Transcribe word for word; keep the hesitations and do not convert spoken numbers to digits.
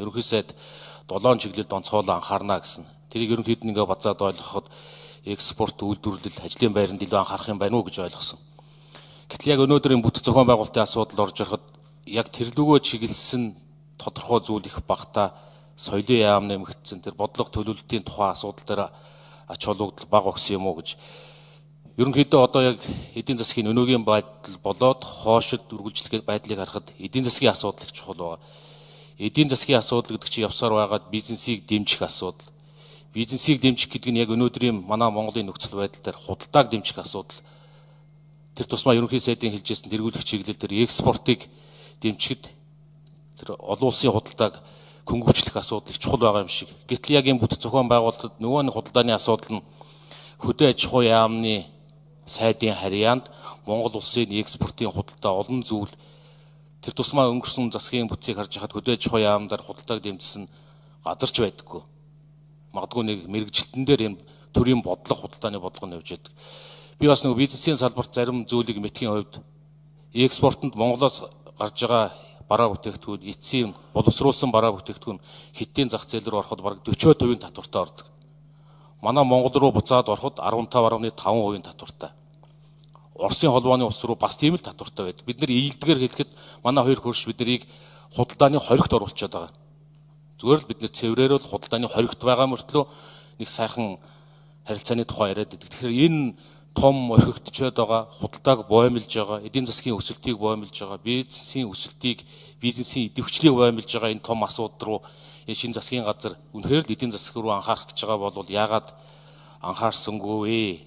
Ерөнхий сайд долоон чиглэлд онцгойлон анхаарна гэсэн. Тэрийг ерөнхийд нь ингээ базаад ойлгоход экспорт үйлдвэрлэл ажлын байранд илүү анхаарах юм байна уу гэж ойлгосон. Гэтэл яг өнөөдрийн бүтэц зохион байгуулалтын асуудал орж ирэх яг тэрлүгөө чиглэсэн тодорхой зүйл их багтаа соёлын яам нэмэгдсэн тэр бодлого төлөвлөлтийн тухай асуудал дээр ач холбогдол бага өгсөн юм уу гэж. Ерөнхийдөө одоо яг эдийн засгийн өнөөгийн байдал болоод хоошид үргэлжлэх байдлыг харахад эдийн засгийн асуудал их чухал байна. Эдийн засгийн асуудал гэдэг чинь явсаар байгаад бизнесийг дэмжих асуудал. Бизнесийг дэмжих гэдэг нь яг өнөөдрийн манай Монголын нөхцөл байдал дээр худалдааг дэмжих асуудал. Тэр тусмаа ерөнхий сайдын хэлжсэн тэргүүлэх чиглэл дээр экспортыг дэмжихэд тэр олон улсын худалдааг хөнгөвчлөх асуудал их чухал байгаа юм шиг. Гэтэл яг энэ бүтэц зохион байгуулалтад нөгөө нэг худалдааны асуудал нь хөдөө аж ахуй яамны сайдын харьяанд Монгол улсын экспортын худалдаа олон зүйл тэр тусмаа өнгөрсөн засгийн бүтцийг харж хахад хөдөө аж ахуй яамдаар худалдааг дэмжсэн газарч байдаггүй. Магадгүй нэг мэрэгжилтэн дээр энэ төрийн бодлого худалдааны бодлого нь явж байдаг. Би бас нэг бизнесийн салбарт зарим зүйлийг мэдхийн хувьд экспортод Монголоос гарч байгаа бараа бүтээгдэхүүн, эцсийн боловсруулсан бараа бүтээгдэхүүн хэдийн зах зээл рүү ороход бараг дөрвөн хувийн татвартай ордог. Манай Монгол руу буцаад ороход арван таван гаруй таван хувийн татвартай. Оросын холбооны улс руу бас тийм л татвартай байдаг. Бид нар ийдгээр хэлэхэд манай хоёр хөрш биднийг худалдааны хоригт оруулчихад байгаа. Зүгээр л бид нэр цэврээр л худалдааны хоригт байгаа мөртлөө нэг сайхан харилцааны тухай яриад байдаг. Тэгэхээр энэ том орхигдчихэд байгаа, худалдааг боомлж байгаа, эдийн засгийн өсөлтийг боомлж байгаа, бизнесийн өсөлтийг, бизнесийн идэвхжлийг боомлж байгаа энэ том асуудал руу шинэ засгийн газар үнэхээр л эдийн засаг руу анхаарах гэж байгаа бол яагаад анхаарсангүй вэ?